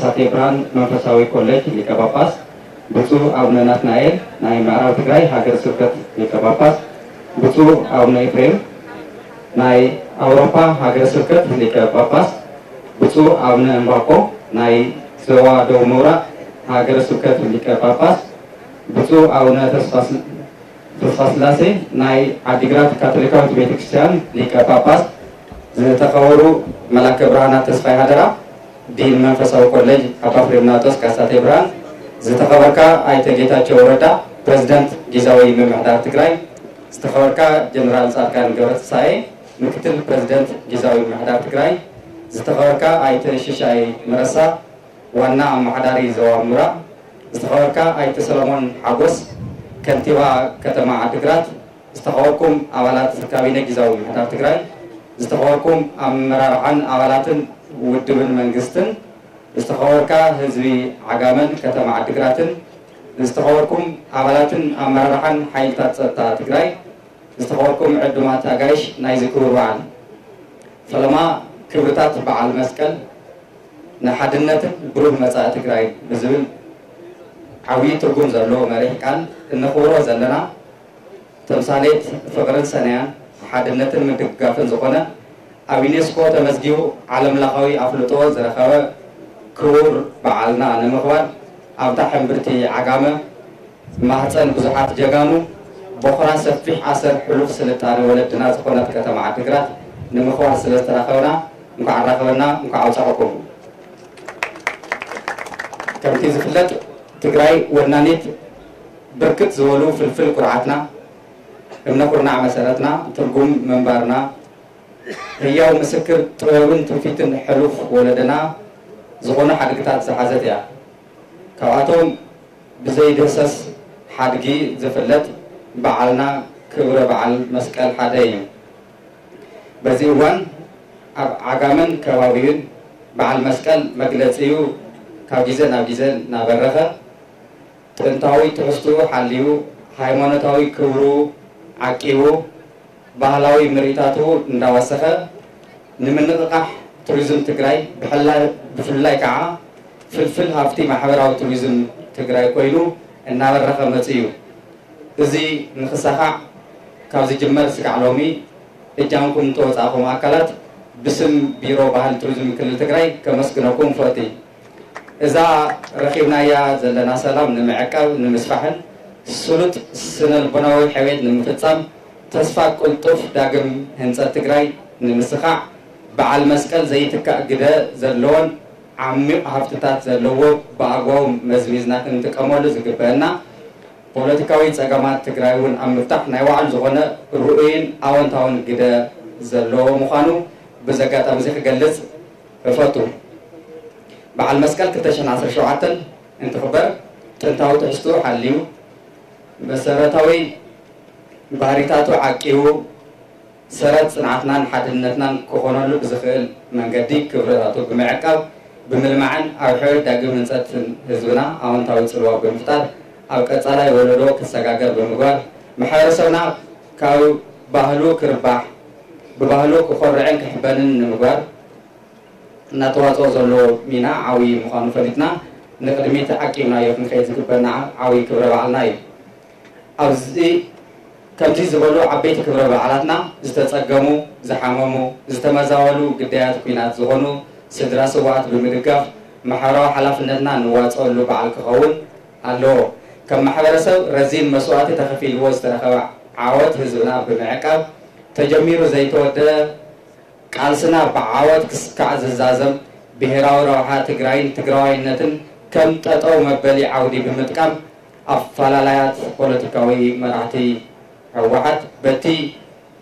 ሳቴ ብርሃን መንፈሳዊ ኮሌጅ ሊቀ ጳጳስ፣ ብፁዕ ኣቡነ ናትናኤል ናይ ምዕራብ ትግራይ ሃገረ ስብከት ሊቀ ጳጳስ፣ ብፁዕ ኣቡነ ኤፍሬም ናይ ኣውሮፓ ሃገረ ስብከት ሊቀ ጳጳስ፣ ብፁዕ ኣቡነ እምባቆ ናይ ዞባ ደቡብ ምብራቕ ሃገረ ስብከት ሊቀ ጳጳስ፣ ብፁዕ ኣቡነ ተስፋ ተስፋስላሴ ናይ ዓዲግራት ካቶሊካዊት ቤተክርስትያን ሊቀ ጳጳስ፣ ዝተኸበሩ መላከ ብርሃናት ተስፋይ ሃደራ፣ ዲን መንፈሳዊ ኮሌጅ ኣባ ፍሬምናጦስ ካሳቴ ብርሃን፣ ዝተኸበርካ ኣይተ ጌታቸው ረዳ ፕሬዝዳንት ጊዛዊ ምምሕዳር ትግራይ፣ ዝተኸበርካ ጀነራል ፃድቃን ገብረትንሳኤ ምክትል ፕሬዝዳንት ጊዛዊ ምምሕዳር ትግራይ፣ ዝተኸበርካ ኣይተ ሽሻይ መረሳ ዋና ኣመሓዳሪ ዞባ ምብራቕ፣ ዝተኸበርካ ኣይተ ሰለሞን ሓጎስ ከንቲባ ከተማ ዓዲግራት፣ ዝተኸበርኩም ኣባላት ካቢነ ጊዛዊ ምምሕዳር ትግራይ፣ ዝተኸበርኩም ኣመራርሓን ኣባላትን ውድብን መንግስትን፣ ዝተኸበርካ ህዝቢ ዓጋመን ከተማ ዓዲግራትን፣ ዝተኸበርኩም ኣባላትን ኣመራርሓን ሓይልታት ፀጥታ ትግራይ፣ ዝተኸበርኩም ዕዱማት ኣጋይሽ ናይዚ ክቡር በዓል። ፈለማ ክብርታት በዓል መስቀል ንሓድነትን ብሩህ መጻኢ ትግራይ ብዝብል ዓብዪ ትርጉም ዘለዎ መሪሕ ቃል እነኽብሮ ዘለና ተምሳሌት ፍቕርን ሰናያን ሓድነትን ምድግጋፍን ዝኾነ ኣብ ዩኔስኮ ተመዝጊቡ ዓለምለኻዊ ኣፍልጦ ዝረኸበ ክቡር በዓልና ንምኽባር ኣብታ ሕምብርቲ ዓጋመ ማህፀን ብዙሓት ጀጋኑ ቦኽራ ሰፊሕ ኣሰር ሕሉፍ ስልጣነ ወለድና ዝኾነት ከተማ ዓዲግራት ንምኽባር ስለ ዝተራኸብና እንኳዕ ኣራኸበና፣ እንኳዕ ኣብፀሐኩም። ከምቲ ዝፍለጥ ትግራይ ወናኒት ብርክት ዝበሉ ፍልፍል ኩርዓትና፣ እምነ ኩርናዕ መሰረትና፣ ትርጉም ምንባርና፣ ህያው ምስክር ጥበብን ትውፊትን ሕሉፍ ወለደና ዝኾኑ ሓድግታት ዝሓዘት እያ። ካብኣቶም ብዘይድህሰስ ሓድጊ ዝፍለጥ በዓልና ክብረ በዓል መስቀል ሓደ እዩ። በዚ እዋን ኣብ ዓጋመን ከባቢኡን በዓል መስቀል መግለጺኡ ካብ ግዜ ናብ ግዜ እናበረኸ ጥንታዊ ትሕዝትኡ ሓልዩ ሃይማኖታዊ ክብሩ ዓቂቡ ባህላዊ ምርኢታቱ እንዳወሰኸ ንምንቕቓሕ ቱሪዝም ትግራይ ብሕላ- ብፍላይ ከዓ ፍልፍል ሃፍቲ ማሕበራዊ ቱሪዝም ትግራይ ኮይኑ እናበረኸ መፂኡ እዩ። እዚ ንክሳኻዕ ካብ ዝጅመር ስጋዕ ሎሚ እጃምኩም እተወፃእኹም ኣካላት ብስም ቢሮ ባህል ቱሪዝም ክልል ትግራይ ከመስግነኩም ፈቲ። እዛ ረኺብናያ ዘለና ሰላም ንምዕቃብ ንምስፋሕን ስሉጥ ስነ ልቦናዊ ሕውየት ንምፍፃም ተስፋ ቅልጡፍ ዳግም ህንፀት ትግራይ ንምስኻዕ በዓል መስቀል ዘይትካእ ግደ ዘለዎን ዓሚቕ ሃፍትታት ዘለዎ ብኣግባቡ መዝሚዝና ክንጥቀመሉ ዝግበአና ፖለቲካዊ ፀገማት ትግራይ እውን ኣብ ምፍታሕ ናይ ባዕሉ ዝኾነ ርኡይን ኣወንታውን ግደ ዘለዎ ምዃኑ ብዚ ኣጋጣሚ እዚ ክገልፅ እፈቱ። በዓል መስቀል ክልተ ሽሕን ዓሰርተ ሸውዓተን እንትኽበር ጥንታዊ ትሕዝትኡ ሓልዩ መሰረታዊ ባህሪታቱ ዓቂቡ ሰረት ፅንዓትናን ሓድነትናን ክኾነሉ ብዝኽእል መንገዲ ክብርታቱ ብምዕቃብ ብምልማዕን ኣብ ሕውየት ዳግም ህንፀትን ህዝብና ኣወንታዊ ፅልዋ ብምፍጣር ኣብ ቀፃላይ ወለዶ ክሰጋገር ብምግባር ማሕበረሰብና ካብ ባህሉ ክርባሕ ብባህሉ ክኾርዕን ክሕበንን ንምግባር እናተዋፅኦ ዘሎ ሚና ዓብዪ ምዃኑ ፈሊጥና ንቅድሚት ዓቂብናዮ ክንከይድ ዝግበና ዓብዪ ክብረ በዓልና እዩ። ኣብዚ ከምዚ ዝበሉ ዓበይቲ ክብረ በዓላትና ዝተፀገሙ፣ ዝሓመሙ፣ ዝተመዛበሉ ግዳያት ኲናት ዝኾኑ ስድራ ስውኣት ብምድጋፍ ማሕበራዊ ሓላፍነትና ንዋፀሉ በዓል ክኸውን ኣለዎ። ከም ማሕበረሰብ ረዚን መስዋእቲ ተኸፊልዎ ዝተረኸበ ዓወት ህዝብና ብምዕቃብ ተጀሚሩ ዘይተወደአ ቃልስና ብዓወት ክስካዕ ዝዛዘም ብሄራዊ ረብሓ ትግራይን ትግራዋይነትን ከም ጠጠው መበሊ ዓውዲ ብምጥቃም ኣፈላላያት ፖለቲካዊ መራሕቲ ህወሓት በቲ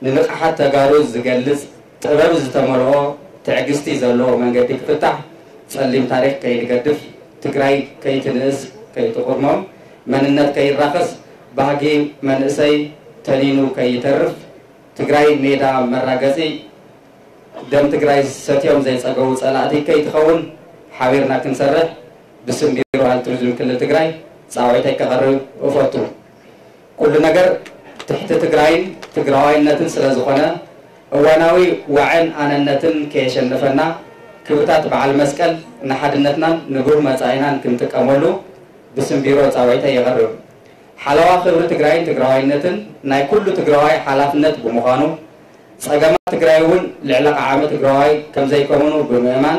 ንንቕሓት ተጋሩ ዝገልፅ ጥበብ ዝተመልኦ ትዕግስቲ ዘለዎ መንገዲ ክፍታሕ ፀሊም ታሪክ ከይንገድፍ ትግራይ ከይትንእስ ከይትቑርሞም መንነት ከይራኸስ ባህጊ መንእሰይ ተኒኑ ከይተርፍ ትግራይ ሜዳ መራገፂ ደም ትግራይ ሰትዮም ዘይፀገቡ ፀላእቲ ከይትኸውን ሓቢርና ክንሰርሕ ብስም ቢሮ ባህል ቱሪዝም ክልል ትግራይ ፃውዒተይ ከቕርብ እፈቱ። ኩሉ ነገር ትሕቲ ትግራይን ትግራዋይነትን ስለዝኾነ እዋናዊ ዋዕን ኣነነትን ከየሸነፈና ክብርታት በዓል መስቀል ንሓድነትናን ንብሩህ መጻኢናን ክንጥቀመሉ ብስም ቢሮ ጻውዒተይ የቕርብ። ሓለዋ ክብሪ ትግራይን ትግራዋይነትን ናይ ኩሉ ትግራዋይ ሓላፍነት ብምዃኑ፣ ጸገማት ትግራይ እውን ልዕሊ ዓቕሚ ትግራዋይ ከምዘይከውኑ ብምእማን፣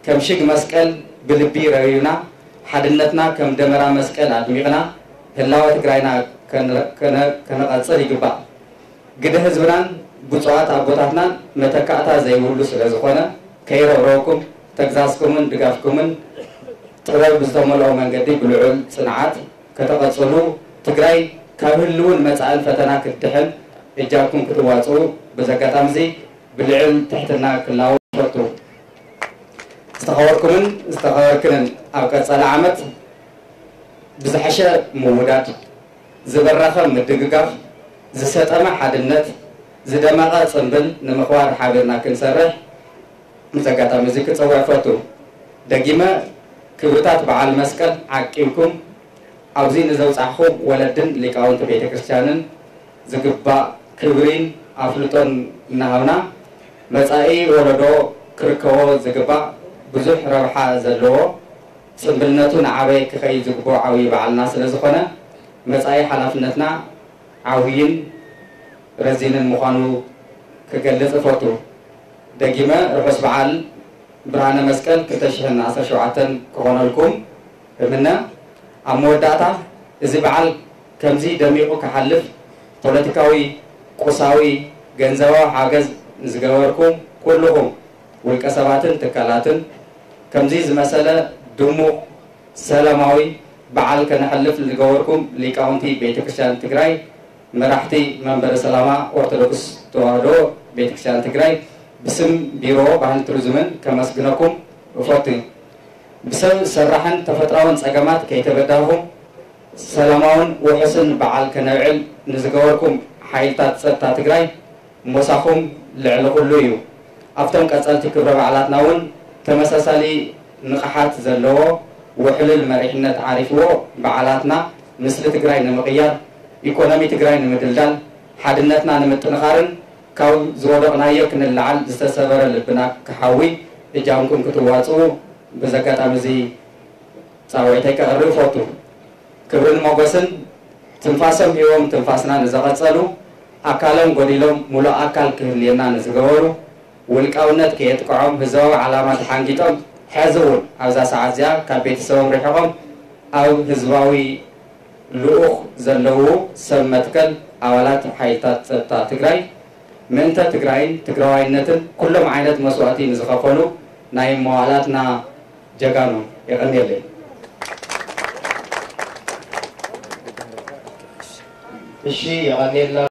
ከም ሽግ መስቀል ብልቢ ረቢብና፣ ሓድነትና ከም ደመራ መስቀል ኣድሚቕና፣ ህላወ ትግራይና ከነ-፣ ከነ-፣ ከነቐጽል ይግባእ። ግደ ህዝብናን ብፁዓት ኣቦታትናን መተካእታ ዘይብሉ ስለ ዝኾነ፣ ከይረብረብኩም ተግዛዝኩምን ድጋፍኩምን ጥበብ ብዝተመልኦ መንገዲ ብልዑል ጽንዓት ከተቐጽሉ፣ ትግራይ ካብ ህልውን መጻእን ፈተና ክትድሕን እጃምኩም ክትዋጽኡ በዚ ኣጋጣሚ እዚ ብልዑል ትሕትና ክላወ እፈቱ። ዝተኸበርኩምን ዝተኸበርክንን፣ ኣብ ቀጻሊ ዓመት ብዝሐሸ ምውዳድ፣ ዝበረኸ ምድግጋፍ፣ ዝሰጠመ ሓድነት፣ ዝደመቐ ጽምብል ንምኽባር ሓቢርና ክንሰርሕ በዚ ኣጋጣሚ እዚ ክጸውዕ እፈቱ። ደጊመ ክብርታት በዓል መስቀል ዓቂብኩም ኣብዚ ንዘብጻሕኹም ወለድን ሊቃውንቲ ቤተ ክርስቲያንን ዝግባእ ክብሪን ኣፍልጦን እናሃብና፣ መጻኢ ወለዶ ክርከቦ ዝግባእ ብዙሕ ረብሓ ዘለዎ፣ ጽምብልነቱ ንዓበየ ክኸይድ ዝግብኦ ዓብዪ በዓልና ስለ ዝኾነ፣ መጻኢ ሓላፍነትና ዓብይን ረዚንን ምዃኑ ክገልጽ እፈቱ። ደጊመ ርሑስ በዓል ብርሃነ መስቀል ክልተ ሽሕን ዓሰርተ ሸውዓተን ክኾነልኩም እምነ። ኣብ መወዳእታ፣ እዚ በዓል ከምዚ ደሚቑ ክሓልፍ ፖለቲካዊ፣ ቁሳዊ፣ ገንዘባዊ ሓገዝ ንዝገበርኩም ኩልኹም ውልቀ ሰባትን ትካላትን፣ ከምዚ ዝመሰለ ድሙቕ ሰላማዊ በዓል ከነሕልፍ ንዝገበርኩም ሊቃውንቲ ቤተ ክርስቲያን ትግራይ፣ መራሕቲ መንበረ ሰላማ ኦርቶዶክስ ተዋህዶ ቤተ ክርስቲያን ትግራይ፣ ብስም ቢሮ ባህልን ቱሪዝምን ከመስግነኩም እፈቱ። ብሰብ ሰራሕን ተፈጥራውን ጸገማት ከይተበዳኹም ሰላማውን ውሑስን በዓል ከነብዕል ንዝገበርኩም ሓይልታት ጸጥታ ትግራይ፣ ሞሳኹም ልዕሊ ኩሉ እዩ። ኣብቶም ቀጸልቲ ክብረ በዓላትና እውን ተመሳሳሊ ንቕሓት ዘለዎ ውሕሉል መሪሕነት ዓሪፍዎ፣ በዓላትና ምስሊ ትግራይ ንምቕያር፣ ኢኮኖሚ ትግራይ ንምድልዳል፣ ሓድነትና ንምጥንኻርን ካብ ዝወደቕናዮ ክንለዓል ዝተሰበረ ልብና ክሓዊ እጃምኩም ክትዋፅኡ በዚ ኣጋጣሚ እዚ ጻውዒተይ ከቕርብ እፈቱ። ክብርን ሞገስን ትንፋሶም ሂቦም ትንፋስና ንዘቐጸሉ፣ ኣካሎም ጎዲሎም ሙሉእ ኣካል ክህልየና ንዝገበሩ፣ ውልቃውነት ከየጥቅዖም ህዝባዊ ዓላማ ተሓንጊጦም፣ ሕዚ እውን ኣብዛ ሰዓት እዚኣ ካብ ቤተሰቦም ርሒቖም ኣብ ህዝባዊ ልኡኽ ዘለዉ ሰብ መትከል ኣባላት ሓይልታት ጸጥታ ትግራይ፣ ምእንተ ትግራይን ትግራዋይነትን ኩሎም ዓይነት መስዋእቲ ንዝኸፈሉ ናይ መዋእላትና ጀጋኑ። የቐንየለይ። እሺ፣ የቐንየልና።